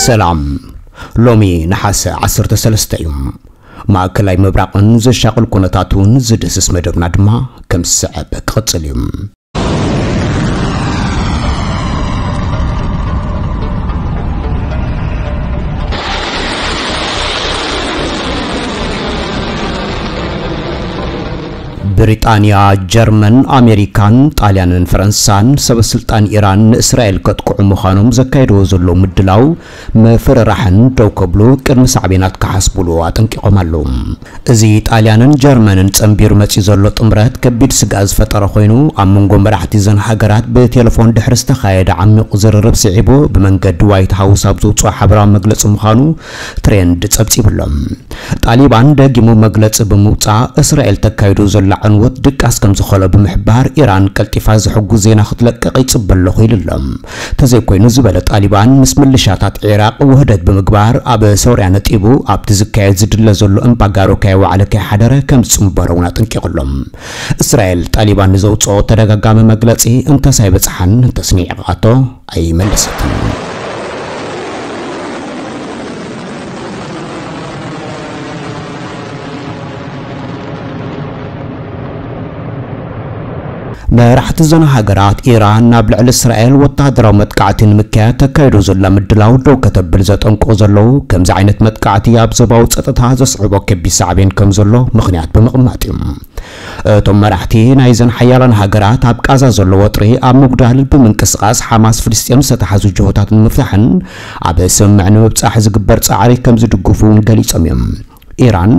ሰላም። ሎሚ ነሓሰ ዓሰርተ ሰለስተ እዩ። ማእከላይ ምብራቕን ዘሻቕል ኩነታቱን ዝድህስስ መደብና ድማ ከም ዝስዕብ ክቕጽል እዩ። ብሪጣንያ፣ ጀርመን፣ ኣሜሪካን ጣልያንን ፈረንሳን ሰበ ስልጣን ኢራን ንእስራኤል ከጥቅዑ ምዃኖም ዘካየድዎ ዘለዉ ምድላው ምፍርራሕን ደው ከብሉ ቅድሚ ሳዕቤናት ክሓስቡሉ ኣጠንቂቖም ኣለዉ። እዚ ጣልያንን ጀርመንን ጸንቢሩ መጺኡ ዘሎ ጥምረት ከቢድ ስግኣት ዝፈጠረ ኮይኑ፣ ኣብ መንጎ መራሕቲ እዘን ሃገራት ብቴሌፎን ድሕሪ ዝተኻየደ ዓሚቕ ዝርርብ ስዒቡ ብመንገዲ ዋይት ሃውስ ኣብ ዘውጽኦ ሓበራዊ መግለጺ ምዃኑ ትሬንድ ጸብጺቡ ኣሎ። ጣሊባን ደጊሙ መግለጺ ብምውጻእ፣ እስራኤል ተካይዶ ዘላ ዕንወት ድቃስ ከም ዝኾነ ብምሕባር፣ ኢራን ቀልጢፋ ዘሕጉስ ዜና ክትለቅቕ ይጽበ ኣለኹ ኢሉ ኣሎ። ተዘይኮይኑ ዝበለ ጣሊባን፣ ምስ ምልሻታት ዒራቕ ውህደት ብምግባር ኣብ ሶርያ ነጢቡ ኣብቲ ዝካየድ ዝድለ ዘሎ እምባጋሮ ከየዋዕለ ከይሓደረ ከም ዝጽንበሮ እውን ኣጠንቂቑ ኣሎ። እስራኤል ጣሊባን ንዘውጽኦ ተደጋጋሚ መግለጺ እንተስ ኣይበጽሓን እንተስ ንዒቓቶ ኣይመለሰትን። መራሕቲ እዘን ሃገራት፣ ኢራን ናብ ልዕሊ እስራኤል ወተሃደራዊ መጥቃዕቲ ንምክያድ ተካይዶ ዘላ ምድላው ደው ከተብል ዘጠንቅቑ ዘለዉ፣ ከምዚ ዓይነት መጥቃዕቲ ኣብ ዞባዊ ጸጥታ ዘስዕቦ ከቢድ ሳዕቤን ከም ዘሎ ምኽንያት ብምቕማጥ እዩ። እቶም መራሕቲ ናይዘን ሓያላን ሃገራት ኣብ ቃዛ ዘሎ ወጥሪ ኣብ ምጉዳል ብምንቅስቓስ ሓማስ ፍልስጤም ዝተታሕዙ ጅሆታት ንምፍታሕን ኣብ ስምምዕ ንምብጻሕ ዝግበር ጻዕሪ ከም ዝድግፉ እውን ገሊጾም እዮም። ኢራን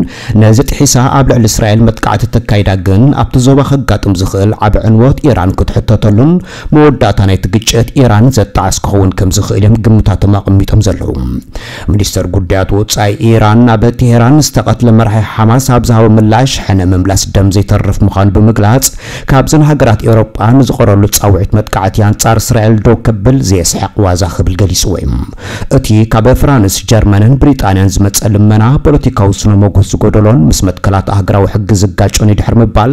ነዚ ጥሒሳ ኣብ ልዕሊ እስራኤል መጥቃዕቲ ተካይዳ ግን ኣብቲ ዞባ ከጋጥም ዝኽእል ዓቢ ዕንወት ኢራን ክትሕተተሉን መወዳእታ ናይቲ ግጭት ኢራን ዘጣዕስ ክኸውን ከም ዝኽእል እዮም ግምታቶም ኣቐሚጦም ዘለዉ። ሚኒስተር ጉዳያት ወጻኢ ኢራን ኣብ ቴሄራን ዝተቐትለ መራሒ ሓማስ ኣብ ዝሃቦ ምላሽ፣ ሕነ ምምላስ ደም ዘይተርፍ ምዃኑ ብምግላጽ፣ ካብዘን ሃገራት ኤውሮጳ ንዝቐረበሉ ጻውዒት መጥቃዕቲ ኣንጻር እስራኤል ደው ከብል ዘየስሕቕ ዋዛ ክብል ገሊጽዎ እዩ። እቲ ካብ ፍራንስ፣ ጀርመንን ብሪጣንያን ዝመጸ ልመና፣ ፖለቲካዊ ስነ ሞገስ ዝጎደሎን ምስ መትከላት ኣህጉራዊ ሕጊ ዝጋጮን እዩ ድሕሪ ምባል፣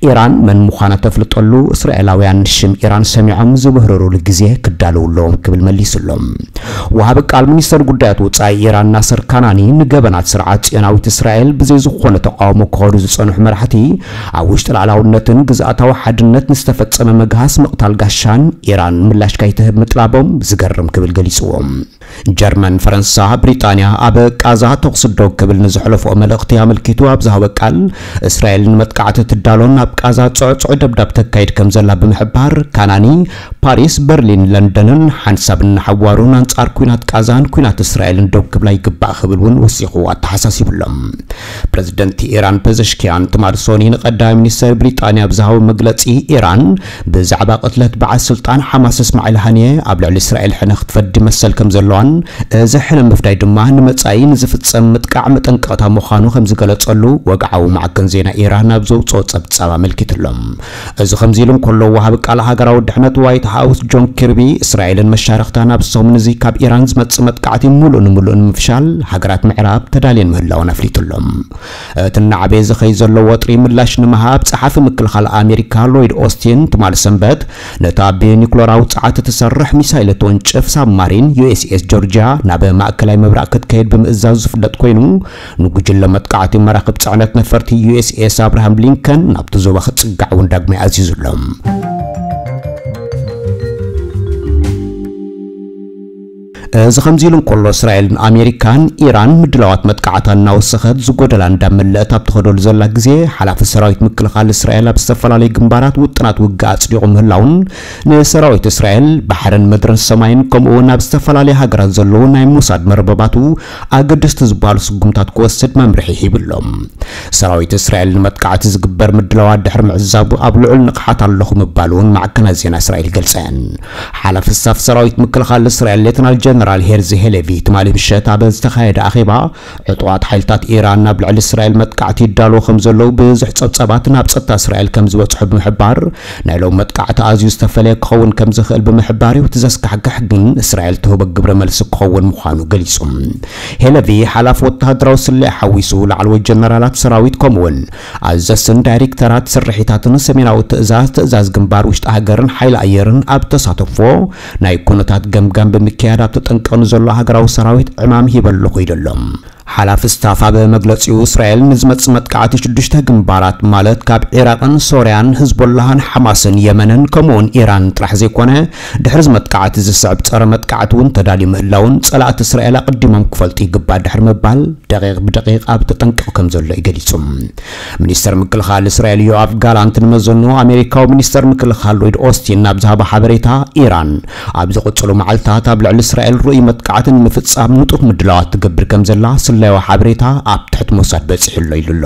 ኢራን መን ምዃና ተፍልጠሉ እስራኤላውያን ሽም ኢራን ሰሚዖም ዝብህርሩሉ ግዜ ክዳለዉ ኣለዎም ክብል መሊሱ ኣሎ። ወሃቢ ቃል ሚኒስተር ጉዳያት ወጻኢ ኢራን ናስር ካናኒ፣ ንገበናት ስርዓት ጽዮናዊት እስራኤል ብዘይ ዝኾነ ተቃውሞ ክኸዱ ዝጸንሑ መራሕቲ፣ ኣብ ውሽጢ ሉዓላውነትን ግዝኣታዊ ሓድነት ንዝተፈጸመ ምግሃስ ምቕታል ጋሻን ኢራን ምላሽ ከይትህብ ምጥላቦም ዝገርም ክብል ገሊጽዎ። ጀርመን፣ ፈረንሳ፣ ብሪጣንያ ኣብ ቃዛ ተኹሲ ደው ክብል ንዘሕለፍኦ መልእኽቲ ኣመልኪቱ ኣብ ዝሃበ ቃል፣ እስራኤል ንመጥቃዕቲ ትዳሎን ኣብ ቃዛ ጽዕጹዕ ደብዳብ ተካይድ ከም ዘላ ብምሕባር፣ ካናኒ፣ ፓሪስ፣ በርሊን፣ ለንደንን ሓንሳብ እናሓዋሩን ኣንጻር ኲናት ቃዛን ኲናት እስራኤልን ደው ክብላ ይግባእ ክብል እውን ወሲኹ ኣተሓሳሲቡ ኣሎ። ፕረዚደንት ኢራን ፐዘሽኪያን ትማሊ ሶኒ ንቀዳማይ ሚኒስተር ብሪጣንያ ኣብ ዝሃቦ መግለጺ፣ ኢራን ብዛዕባ ቅትለት በዓል ስልጣን ሓማስ እስማዒል ሃኒየ ኣብ ልዕሊ እስራኤል ሕነ ክትፈዲ መሰል ከም ዘለዋን፣ እዚ ሕነ ምፍዳይ ድማ ንመጻኢ ንዝፍጸም ምጥቃዕ መጠንቀቕታ ምዃኑ ከም ዝገለጸሉ ወግዓዊ ማዕከን ዜና ኢራን ኣብ ዘውጽኦ ጸብጻብ ኣመልኪቱ ኣሎ። እዚ ከምዚ ኢሉ እንከሎ፣ ወሃቢ ቃል ሃገራዊ ድሕነት ዋይት ሃውስ ጆን ኪርቢ፣ እስራኤልን መሻርኽታን ኣብዚ ሰሙን እዚ ካብ ኢራን ዝመጽእ መጥቃዕቲ ምሉእ ንምሉእ ንምፍሻል ሃገራት ምዕራብ ተዳልየን ምህላወን ኣፍሊጡ ኣሎ። እቲ እናዓበየ ዝኸይድ ዘሎ ወጥሪ ምላሽ ንምሃብ፣ ጸሓፊ ምክልኻል ኣሜሪካ ሎይድ ኦስቲን ትማሊ ሰንበት፣ ነታ ብኒኩለራዊ ጸዓት እትሰርሕ ሚሳይል እትወንጭፍ ሳብማሪን ዩ ኤስ ኤስ ጆርጅያ ናብ ማእከላይ ምብራቕ ክትከይድ ብምእዛዙ ዝፍለጥ ኮይኑ፣ ንጉጅለ መጥቃዕቲ መራኽብ ጽዕነት ነፈርቲ ዩ ኤስ ኤስ ኣብርሃም ሊንከን ናብቲ ዞባ ክጽጋዕ እውን ዳግማይ ኣዚዙ ኣሎ። እዚ ከምዚ ኢሉ እንከሎ፣ እስራኤልን ኣሜሪካን ኢራን ምድላዋት መጥቃዕታ እናወሰኸት ዝጎደላ እንዳመለአት ኣብ ትኸደሉ ዘላ ግዜ፣ ሓላፊ ሰራዊት ምክልኻል እስራኤል ኣብ ዝተፈላለዩ ግንባራት ውጥናት ውግእ ኣጽዲቑ ምህላውን፣ ንሰራዊት እስራኤል ባሕርን ምድርን ሰማይን ከምኡ እውን ኣብ ዝተፈላለዩ ሃገራት ዘለዉ ናይ ሞሳድ መርበባቱ ኣገደስቲ ዝበሃሉ ስጉምታት ክወስድ መምርሒ ሂቡ ኣሎ። ሰራዊት እስራኤል ንመጥቃዕቲ ዝግበር ምድላዋት ድሕሪ ምዕዛቡ ኣብ ልዑል ንቕሓት ኣለኹ ምባሉ እውን ማዕከናት ዜና እስራኤል ይገልጻ እየን። ሓላፊ ስታፍ ሰራዊት ምክልኻል እስራኤል ሌተናል ጀነራል ሄርዚ ሄሌቪ ትማሊ ምሸት ኣብ ዝተኻየደ ኣኼባ፣ ዕጡቓት ሓይልታት ኢራን ናብ ልዕሊ እስራኤል መጥቃዕቲ ይዳለዉ ከም ዘለዉ ብዙሕ ጸብጻባት ናብ ጸጥታ እስራኤል ከም ዝበጽሑ ብምሕባር፣ ናይ ሎም መጥቃዕቲ ኣዝዩ ዝተፈለየ ክኸውን ከም ዝኽእል ብምሕባር እዩ። እቲ ዘስካሕክሕ ግን እስራኤል ትህቦ ግብረ መልሲ ክኸውን ምዃኑ ገሊጹ። ሄለቪ ሓላፊ ወተሃደራዊ ስለያ ሓዊሱ ላዕለዎት ጀነራላት ሰራዊት ከምኡውን ኣዘዝትን ዳይሬክተራት ስርሒታትን ሰሜናዊ ትእዛዝ፣ ትእዛዝ ግንባር ውሽጢ ሃገርን ሓይሊ ኣየርን ኣብ ተሳተፎ ናይ ኩነታት ገምጋም ብምክያድ ኣብቲ ተጠንቀቕ ንዘሎ ሃገራዊ ሰራዊት ዕማም ሂበ ኣለኹ ኢሉ ኣሎ። ሓላፊ ስታፍ ኣብ መግለጺኡ፣ እስራኤል ንዝመጽእ መጥቃዕቲ ሽዱሽተ ግንባራት፣ ማለት ካብ ዒራቕን ሶርያን ህዝቦላህን ሓማስን የመንን ከምኡውን ኢራን ጥራሕ ዘይኮነ፣ ድሕሪ እዚ መጥቃዕቲ ዝስዕብ ጸረ መጥቃዕቲ እውን ተዳልዩ ምህላውን ጸላእቲ እስራኤል ኣቐዲሞም ክፈልጡ ይግባእ ድሕሪ ምባል፣ ደቂቕ ብደቂቕ ኣብ ተጠንቀቕ ከም ዘሎ እዩ ገሊጹ። ሚኒስተር ምክልኻል እስራኤል ዮኣፍ ጋላንት ንመዘኑ ኣሜሪካዊ ሚኒስተር ምክልኻል ሎይድ ኦስቲን ናብ ዝሃቦ ሓበሬታ፣ ኢራን ኣብ ዝቕጽሉ መዓልታት ኣብ ልዕሊ እስራኤል ርኡይ መጥቃዕቲ ንምፍጻም ንጡፍ ምድላዋት ትገብር ከም ዘላ ስለያዊ ሓበሬታ ኣብ ትሕቲ ሞሳድ በጺሑ ኣሎ ኢሉ ኣሎ።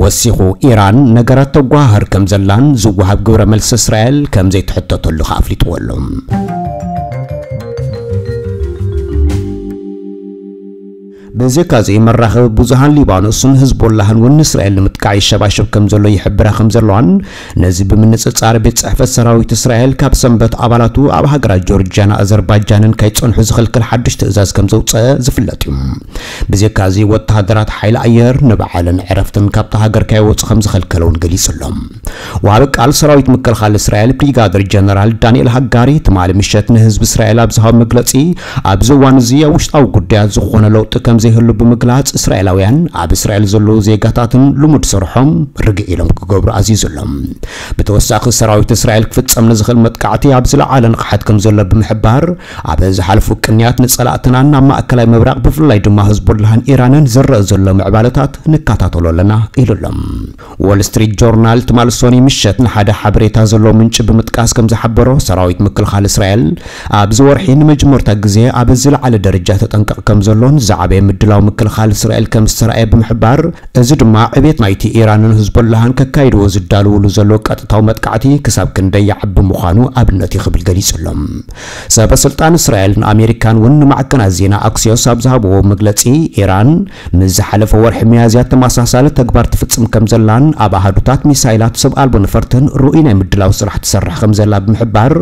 ወሲኹ፣ ኢራን ነገራት ተጓሃህር ከም ዘላን ዝወሃብ ግብረ መልሲ እስራኤል ከም ዘይትሕተተሉ ከኣ ኣፍሊጥዎ ኣሎ። ብዘይካዚ፣ መራኸቢ ብዙሃን ሊባኖስን ህዝቦላህን እውን ንእስራኤል ንምጥቃዕ ይሸባሸብ ከም ዘሎ ይሕብራ ከም ዘለዋን፣ ነዚ ብምንጽጻር ቤት ጽሕፈት ሰራዊት እስራኤል ካብ ሰንበት ኣባላቱ ኣብ ሃገራት ጆርጅያን ኣዘርባይጃንን ከይጸንሑ ዝኽልክል ሓድሽ ትእዛዝ ከም ዘውጸአ ዝፍለጥ እዩ። ብዘይካዚ፣ ወተሃደራት ሓይሊ ኣየር ንበዓልን ዕረፍትን ካብታ ሃገር ከይወጹ ከም ዝኸልከለ እውን ገሊጹ ኣሎ። ወሃቢ ቃል ሰራዊት ምክልኻል እስራኤል ብሪጋደር ጀነራል ዳንኤል ሃጋሪ ትማሊ ምሸት ንህዝቢ እስራኤል ኣብ ዝሃቦ መግለጺ፣ ኣብዚ እዋን እዚ ኣብ ውሽጣዊ ጉዳያት ዝኾነ ለውጢ ከም ዘይህሉ ብምግላጽ፣ እስራኤላውያን ኣብ እስራኤል ዘለዉ ዜጋታትን ልሙድ ስርሖም ርግእ ኢሎም ክገብሩ ኣዚዙ ኣሎ። ብተወሳኺ፣ ሰራዊት እስራኤል ክፍጸም ንዝኽእል መጥቃዕቲ ኣብ ዝለዓለ ንቕሓት ከም ዘሎ ብምሕባር፣ ኣብ ዝሓለፉ ቅንያት ንጸላእትናን ናብ ማእከላይ ምብራቕ ብፍላይ ድማ ህዝቦላህን ኢራንን ዝረአ ዘሎ ምዕባለታት ንከታተሎ ኣለና ኢሉ ኣሎ። ዎል ስትሪት ጆርናል ትማሊ ሶኒ ምሸት ንሓደ ሓበሬታ ዘለዎ ምንጪ ብምጥቃስ ከም ዝሓበሮ፣ ሰራዊት ምክልኻል እስራኤል ኣብዚ ወርሒ ንመጀመርታ ግዜ ኣብ ዝለዓለ ደረጃ ተጠንቀቕ ከም ዘሎን ዝዓበየ ምድላው ምክልኻል እስራኤል ከም ዝተራእየ ብምሕባር፣ እዚ ድማ ዕቤት ናይቲ ኢራንን ህዝቦላህን ከካይድዎ ዝዳለውሉ ዘለዉ ቀጥታዊ መጥቃዕቲ ክሳብ ክንደይ ይዓቢ ምዃኑ ኣብነት እዩ ክብል ገሊጹ ኣሎ። ሰበ ስልጣን እስራኤልን ኣሜሪካን እውን ንማዕከናት ዜና ኣክሲዮስ ኣብ ዝሃብዎ መግለጺ፣ ኢራን ምስ ዝሓለፈ ወርሒ ሚያዝያ ተመሳሳሊ ተግባር ትፍጽም ከም ዘላን ኣብ ኣሃዱታት ሚሳይላት ሰብ ኣልቦ ነፈርትን ርኡይ ናይ ምድላው ስራሕ ትሰርሕ ከም ዘላ ብምሕባር፣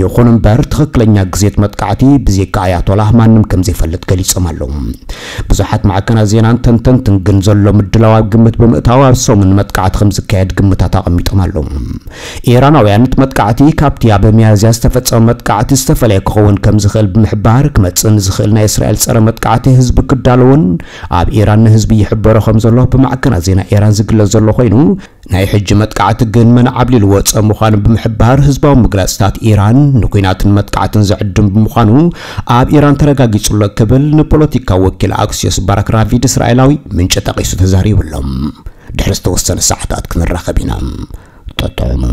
ይኹን እምበር ትኽክለኛ ግዜት መጥቃዕቲ ብዘይካ ኣያቶላህ ማንም ከም ዘይፈልጥ ገሊጾም ኣለዉ። ብዙሓት ማዕከናት ዜናን ተንተንትን ግን ዘሎ ምድላው ኣብ ግምት ብምእታው ኣብ ሰሙን መጥቃዕቲ ከም ዝካየድ ግምታት ኣቐሚጦም ኣለዉ። ኢራናውያን እቲ መጥቃዕቲ ካብቲ ኣብ ሚያዝያ ዝተፈጸመ መጥቃዕቲ ዝተፈለየ ክኸውን ከም ዝኽእል ብምሕባር፣ ክመጽእ ንዝኽእል ናይ እስራኤል ጸረ መጥቃዕቲ ህዝቢ ክዳለውን ኣብ ኢራን ንህዝቢ ይሕበሮ ከም ዘሎ ብማዕከናት ዜና ኢራን ዝግለጽ ዘሎ ኮይኑ፣ ናይ ሕጂ መጥቃዕቲ ግን መን ዓብሊሉ ወጸ ምዃኑ ብምሕባር፣ ህዝባዊ ምግላጽታት ኢራን ንኲናትን መጥቃዕትን ዝዕድም ብምዃኑ ኣብ ኢራን ተረጋጊጹ ኣሎ ክብል ንፖለቲካዊ ወኪል ኣክሲዮስ ባራክ ራቪድ እስራኤላዊ ምንጪ ጠቒሱ ተዛሪቡ ኣሎ። ድሕሪ ዝተወሰነ ሰዓታት ክንራኸብ ኢና። ጠጥዑሙ።